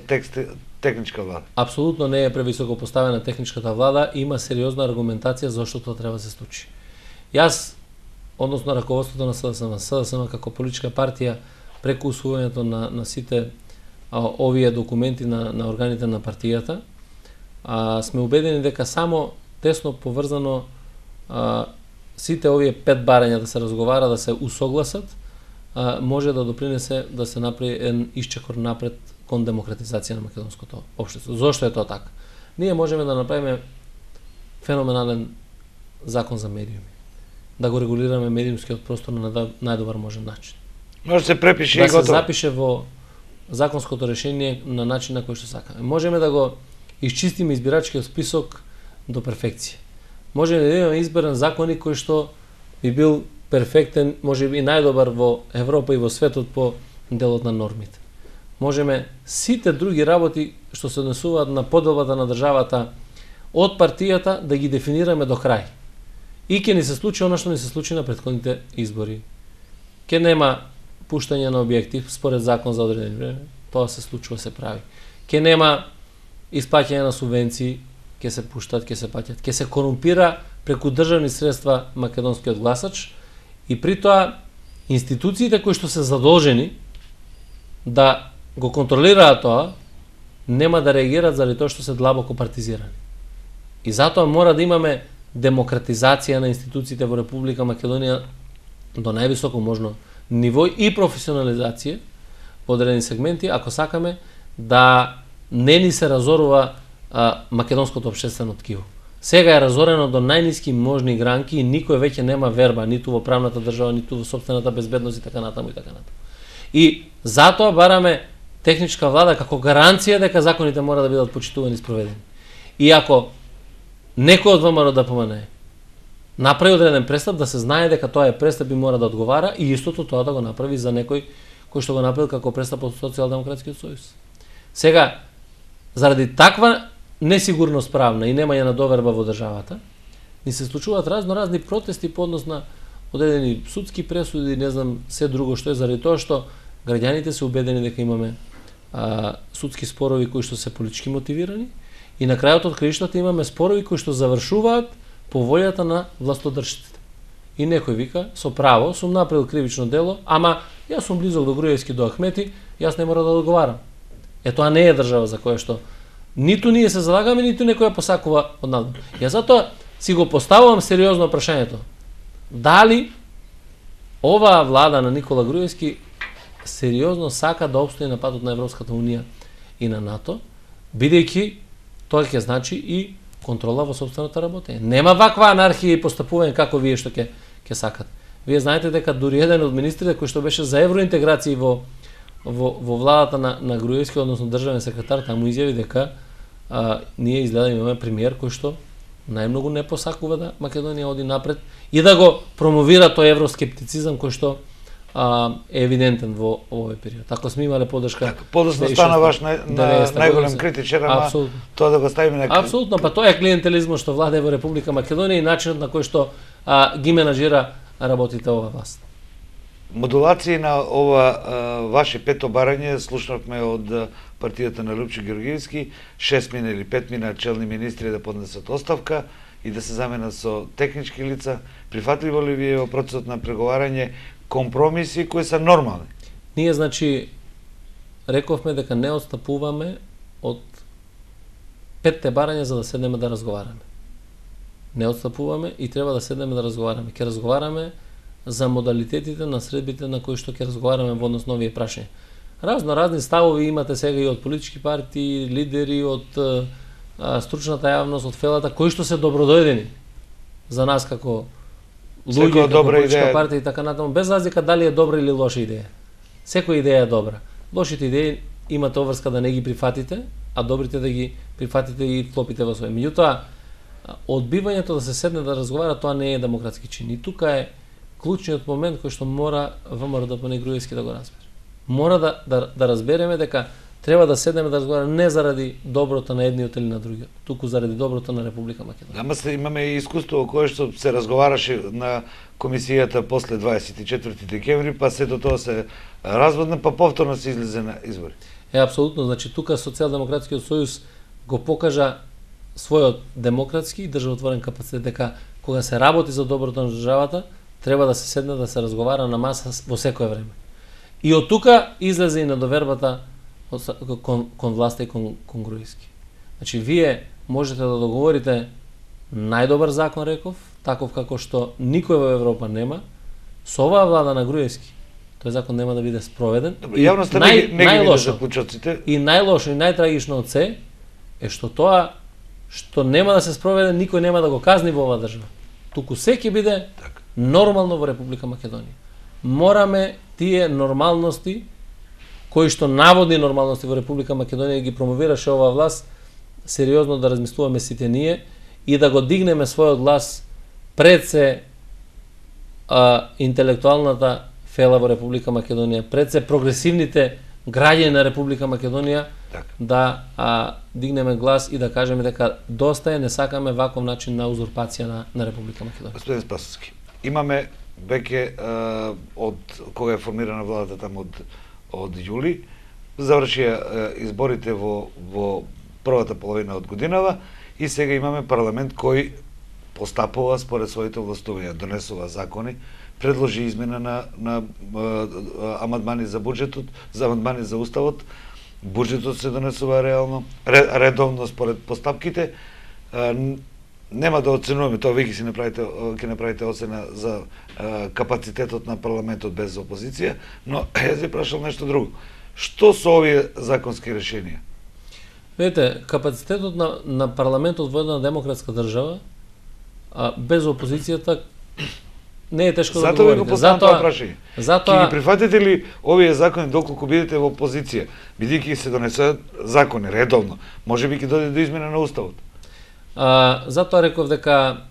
техничка влада? Апсолутно не е превисоко поставена техничката влада, има сериозна аргументација зашто тоа треба да се случи. Јас, односно раководството на СДСМ како политичка партија, преку усвојањето на сите овие документи на органите на партијата, сме убедени дека само тесно поврзано сите овие 5 барања да се разговара, да се усогласат, може да допринесе да се направи еден исчекор напред кон демократизација на македонското општество. Зошто е тоа така? Ние можеме да направиме феноменален закон за медиуми, да го регулираме медиумскиот простор на најдобар можен начин. Може да се препише да и готово. Да се запише во законското решение на начин на кој што сакаме. Можеме да го исчистиме избирачкиот список до перфекција. Можеме да имаме изборен законник кој што би бил перфектен, може би најдобар во Европа и во светот по делот на нормите. Можеме сите други работи што се однесуваат на поделбата на државата од партијата да ги дефинираме до крај. И ќе ни се случи она што ни се случи на претходните избори. Ќе нема пуштање на објекти според закон за одредено време, тоа се случува, се прави. Ќе нема исплаќање на субвенции, ќе се пуштат, ќе се плаќат, ќе се корумпира преку државни средства македонскиот гласач и при тоа институциите кои што се задолжени да го контролираат тоа нема да реагираат заради тоа што се длабоко партизирани. И затоа мора да имаме демократизација на институциите во Република Македонија до највисоко можно ниво и професионализација во одредени сегменти, ако сакаме да не ни се разорува македонското општествено ткиво. Сега е разорено до најниски можни гранки и никој веќе нема верба ниту во правната држава, ниту во сопствената безбедност и така натаму и така натаму. И затоа бараме техничка влада како гаранција дека законите мора да бидат почитувани и спроведени. И ако некој од ВМРО ДПМН направи одреден престап, да се знае дека тоа е престап и мора да одговара и истото тоа да го направи за некој кој што го направил како престап од Социјалдемократскиот сојуз. Сега, заради таква несигурност правна и немање на доверба во државата, ни се случуваат разни протести по однос на одредени судски пресуди, не знам, се друго што е, заради тоа што граѓаните се убедени дека имаме судски спорови кои што се политички мотивирани и на крајот од краиштата имаме спорови кои што завршуваат по волјата на властодржците. И некој вика, со право, сум направил кривично дело, ама јас сум близок до Груевски, до Ахмети, јас не мора да одговарам. Тоа не е држава за која што ниту ние се залагаме, ниту некој посакува од нас. Јас затоа си го поставувам сериозно прашањето. Дали оваа влада на Никола Груевски сериозно сака да обстои на патот на Европската унија и на НАТО, бидејќи тоа ќе значи и контрола во сопствената работење. Нема ваква анархија и постапување како вие што ќе сакате. Вие знаете дека дури еден од министрите кој што беше за евроинтеграција во владата на Груевски, односно државен секретар, таму изјави дека ние изгледа имаме премиер кој што најмногу не посакува да Македонија оди напред и да го промовира тој евроскептицизам кој што е евидентен во овој период. Ако сме имале поддршка, подоцна стана ваш најголем критичар, ама тоа да го ставиме на апсолутно, па тоа е клиентелизмот што владее во Република Македонија и начинот на кој што ги менажира работите ова власт. Модулации на ова ваше пето барање слушнавме од партијата на Лупчо Георгиевски, 6 мина или 5 мина челни министри да поднесат оставка и да се заменат со технички лица. Прифатливо ли ви е во процесот на преговарање компромиси кои се нормални? Ние, значи, рековме дека не отстапуваме од 5 барања за да седнеме да разговараме. Не отстапуваме и треба да седнеме да разговараме. Ке разговараме за модалитетите на средбите на кои што ќе разговараме во однос на овие прашања. Разни ставови имате сега и од политички партии, лидери, од стручната јавност, од фелата, кои што се добродојдени за нас како луѓе, како политичка партија и така натаму, без разлика дали е добра или лоша идеја. Секоја идеја е добра. Лошите идеи имате обврска да не ги прифатите, а добрите да ги прифатите и клопите во свој. Меѓутоа, одбивањето да се седне да разговара, тоа не е демократски чин. И тука е клучниот момент кој што мора ВМРО ДПН Груевски да го разбере. Мора да разбереме дека треба да седнеме да разговараме не заради доброто на едниот или на другиот, туку заради доброто на Република Македонија. Ама имаме и искуство кое што се разговараше на комисијата после 24 декември, па сето тоа се разводна, па повторно се излезе на избори. Апсолутно, значи тука Социјалдемократскиот сојуз го покажа својот демократски и државотворен капацитет дека кога се работи за доброто на државата, треба да се седне да се разговара на маса во секое време. И од тука излезе и надовербата кон власта и кон Груевски. Значи, вие можете да договорите најдобар закон, реков, таков како што никој во Европа нема, со оваа влада на Груевски, тој закон нема да биде спроведен. Јавноста не ги види заклучоците. И најлошо и најтрагично од се е што тоа што нема да се спроведе, никој нема да го казни во оваа држава. Туку се ќе биде нормално во Република Македонија. Мораме тие нормалности кои што наводни нормалности во Република Македонија ги промовираше оваа власт, сериозно да размислуваме сите ние и да го дигнеме својот глас пред се интелектуалната фела во Република Македонија, пред се прогресивните граѓани на Република Македонија, да дигнеме глас и да кажеме дека доста е, не сакаме ваков начин на узурпација на Република Македонија. Господин Спасовски, имаме веќе од кога е формирана владата таму од јули, завршија изборите во првата половина од годинава и сега имаме парламент кој постапува според своите властувања, донесува закони, предложи измена на амандмани за буџетот, за амандмани за уставот, буџетот се донесува редовно според постапките. Нема да оценуваме тоа, вие ќе направите оцена за капацитетот на парламентот без опозиција, но јас ви прашал нешто друго. Што со овие законски решенија? Видете, капацитетот на парламентот во една демократска држава без опозицијата не е тешко да го говорите. Затоа ќе ги прифатите ли овие закони доколку бидете во опозиција, бидејќи се донесуваат закони редовно, можеби ќе дојде до измена на уставот? Затоа реков дека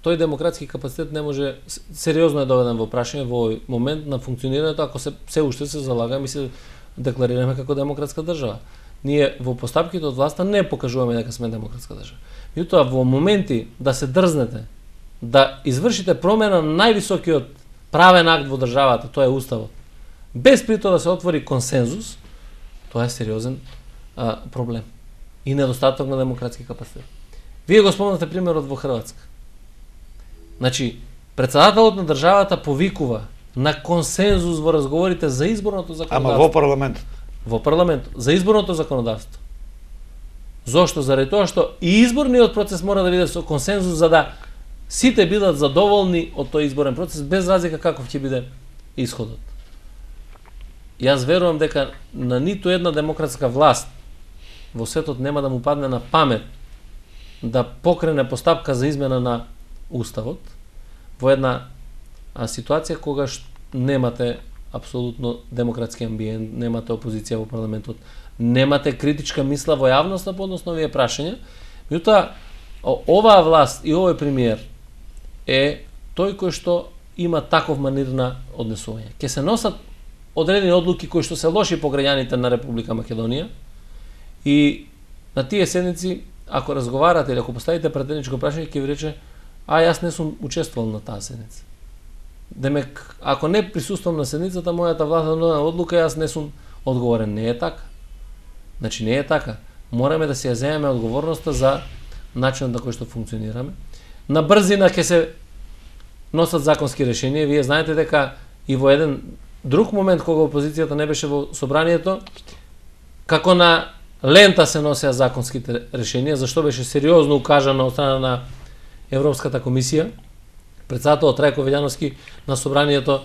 тој демократски капацитет не може, сериозно е доведен во прашање во овој момент на функционирањето, ако се уште се залагаме и се декларираме како демократска држава. Ние во постапките од власта не покажуваме дека сме демократска држава. Меѓутоа во моменти да се дрзнете да извршите промена на највисокиот правен акт во државата, тоа е уставот, без при тоа да се отвори консензус, тоа е сериозен проблем и недостаток на демократски капацитет. Вие го спомнате примерот во Хрватска. Значи, председателот на државата повикува на консензус во разговорите за изборното законодавство. Ама во парламентот. Во парламентот за изборното законодавство. Зошто? Заради тоа што и изборниот процес мора да биде со консензус за да сите бидат задоволни од тој изборен процес без разлика каков ќе биде исходот. Јас верувам дека на ниту една демократска власт во светот нема да му падне на памет да покрене постапка за измена на уставот во една ситуација кога немате апсолутно демократски амбиент, немате опозиција во парламентот, немате критичка мисла во јавноста по однос на овие прашања. Меѓутоа, оваа власт и овој премиер е тој кој што има таков манир на однесување. Ке се носат одредени одлуки кои што се лоши по граѓаните на Република Македонија и на тие седници, ако разговарате или ако поставите претеничко прашање, ќе ви рече: а јас не сум учествувал на таа седница. Демек, ако не присуствувам на седницата, мојата властна одлука, јас не сум одговорен. Не е така. Значи не е така. Мораме да се ја земеме одговорноста за начинот на кој што функционираме. На брзина ќе се носат законски решенија. Вие знаете дека и во еден друг момент кога опозицијата не беше во собранието, како на лента се носеа законските решенија, зашто беше сериозно укажано од страна на Европската комисија. Председателот Трајко Велјановски на собранието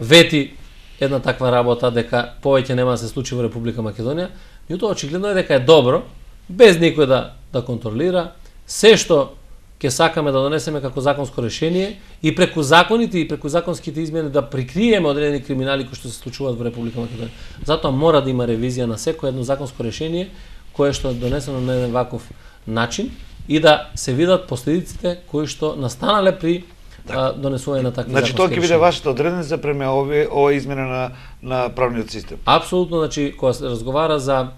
вети една таква работа дека повеќе нема да се случи во Република Македонија. Меѓутоа очигледно е дека е добро без никој да контролира се што ќе сакаме да донесеме како законско решение и преку законите и преку законските измени да прикриеме одредени криминали кои што се случуваат во Република Македонија. Затоа мора да има ревизија на секој едно законско решение кое што е донесено на еден ваков начин и да се видат последиците кои што настанале при донесување на такви законски решенија. Значи тоа ќе биде вашата одредница према ова измена на правниот систем. Апсолутно, значи кога се разговара за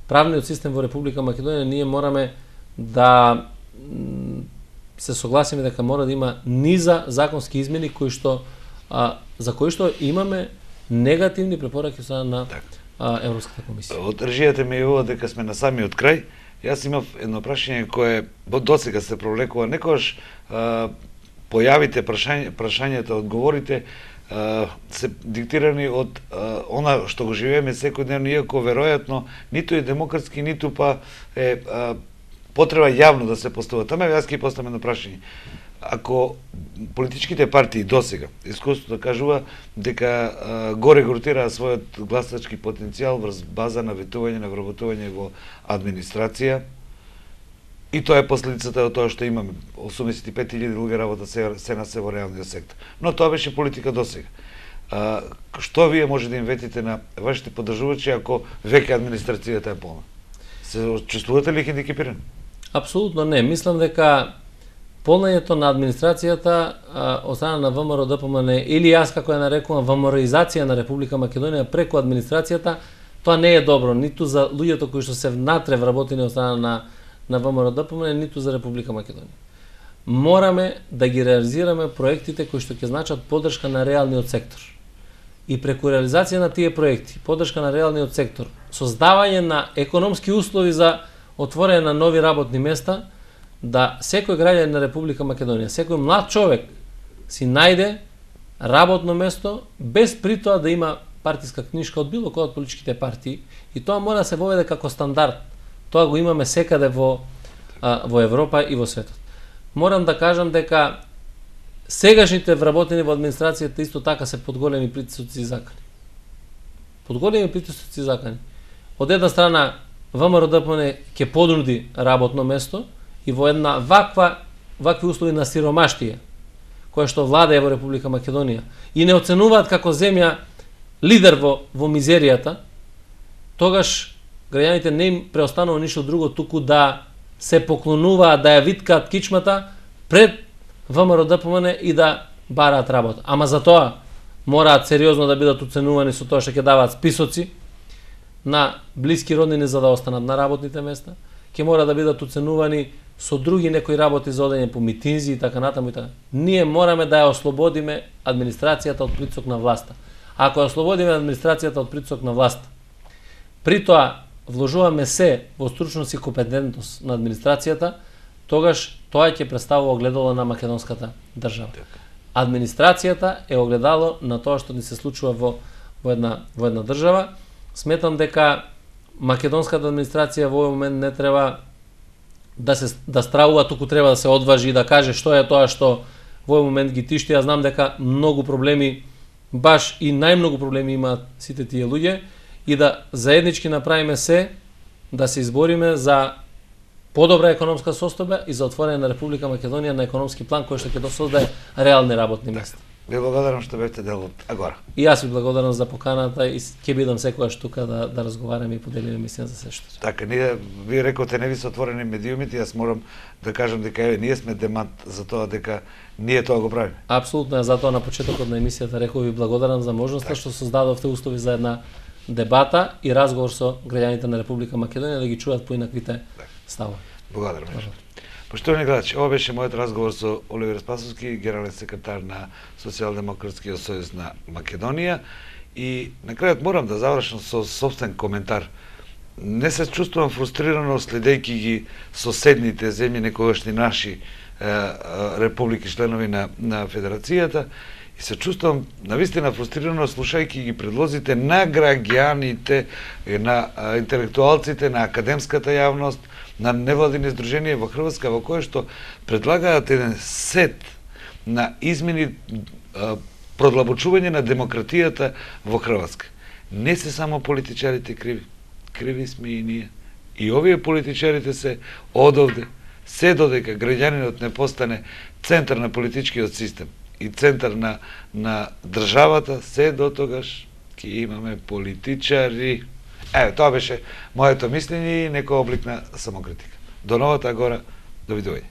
правниот систем во Република Македонија, ние мораме да се согласиме дека мора да има низа законски измени кои што за кои што имаме негативни препораки од страна на Европската комисија. Од режијата ми е ова дека сме на самиот крај. Јас имав едно прашање кое досега се провлекува. Некогаш појавите прашањата, одговорите се диктирани од она што го живееме секојдневно, иако веројатно ниту е демократски, ниту па е потреба јавно да се поставува. Таме јас ќе поставам едно прашање. Ако политичките партии досега искуството кажува дека го регрутираа својот гласачки потенцијал врз база на ветување, на вработување во администрација, и тоа е последицата од тоа што имаме 85.000 луѓе работа се на се во реалниот сектор. Но тоа беше политика досега. Што вие може да им ветите на вашите поддржувачи ако веќе администрацијата е полна? Се чувствувате ли хендикепирани? Апсолутно не. Мислам дека полнењето на администрацијата од страна на ВМРО ДПМН или јас како ја нарекувам ВМРО-изација на Република Македонија преку администрацијата, тоа не е добро ниту за луѓето кои што се внатре вработени од страна на ВМРО ДПМН, ниту за Република Македонија. Мораме да ги реализираме проектите кои што ќе значат поддршка на реалниот сектор. И преку реализација на тие проекти, поддршка на реалниот сектор, создавање на економски услови за отворање на нови работни места, да секој граѓанин на Република Македонија, секој млад човек си најде работно место без при тоа да има партиска книжка од било која од политичките партии, и тоа мора да се воведе како стандард. Тоа го имаме секаде во Европа и во светот. Морам да кажам дека сегашните вработени во администрацијата исто така се под големи притисоци и закани. Под големи притисоци и закани. Од една страна ВМРО ДПМН ќе понуди работно место и во една вакви услови на сиромаштија која што владее во Република Македонија и не оценуваат како земја лидер во мизеријата, тогаш граѓаните не им преостанува ништо друго туку да се поклонуваат, да ја виткаат кичмата пред ВМРО ДПМН и да бараат работа. Ама за тоа мораат сериозно да бидат оценувани со тоа што ќе даваат списоци на блиски роднини за да останат на работните места, ќе мора да бидат оценувани со други некои работи за одење по митинзи и така натаму и така. Ние мораме да ја ослободиме администрацијата од притисок на власта. Ако ја ослободиме администрацијата од притисок на власта, при тоа вложуваме се во стручност и компетентност на администрацијата, тогаш тоа ќе представува огледало на македонската држава. Администрацијата е огледало на тоа што ни се случува во една држава. Сметам дека македонската администрација во овој момент не треба да стравува, туку треба да се одважи и да каже што е тоа што во овој момент ги тишти. Јас знам дека многу проблеми, баш и најмногу проблеми имаат сите тие луѓе, и да заеднички направиме се да се избориме за подобра економска состојба и за отворање на Република Македонија на економски план кој што ќе создаде реални работни места. Ви благодарам што бевте дел од Агора. И јас ви благодарам за поканата и ќе бидам секогаш тука да разговараме и поделиме мислења за се што. Така, ви рековте не ви се отворени медиумите, јас морам да кажам дека ние сме демант за тоа дека ние тоа го правиме. Апсолутно, затоа на почетокот на емисијата реков ви благодарам за можноста што создадовте услови за една дебата и разговор со граѓаните на Република Македонија да ги чуат поинаквите ставови. Благодарам. Поштовани гледачи, ова беше мојот разговор со Оливер Спасовски, генерален секретар на Социјалдемократскиот сојуз на Македонија, и на крајот морам да завршам со сопствен коментар. Не се чувствувам фрустрирано следејќи ги соседните земји, некогашни наши републики членови на Федерацијата, и се чувствувам навистина фрустрирано слушајќи ги предлозите на граѓаните, на интелектуалците, на академската јавност, на невладини здруженија во Хрватска, во кое што предлагаат еден сет на измени, продлабочување на демократијата во Хрватска. Не се само политичарите криви, криви сме и ние. И овие политичарите се одовде, се додека граѓанинот не постане центар на политичкиот систем и центар на државата, се дотогаш ќе имаме политичари. Тоа беше моето мислење и некој облик на самокритика. До новата Агора, довидување.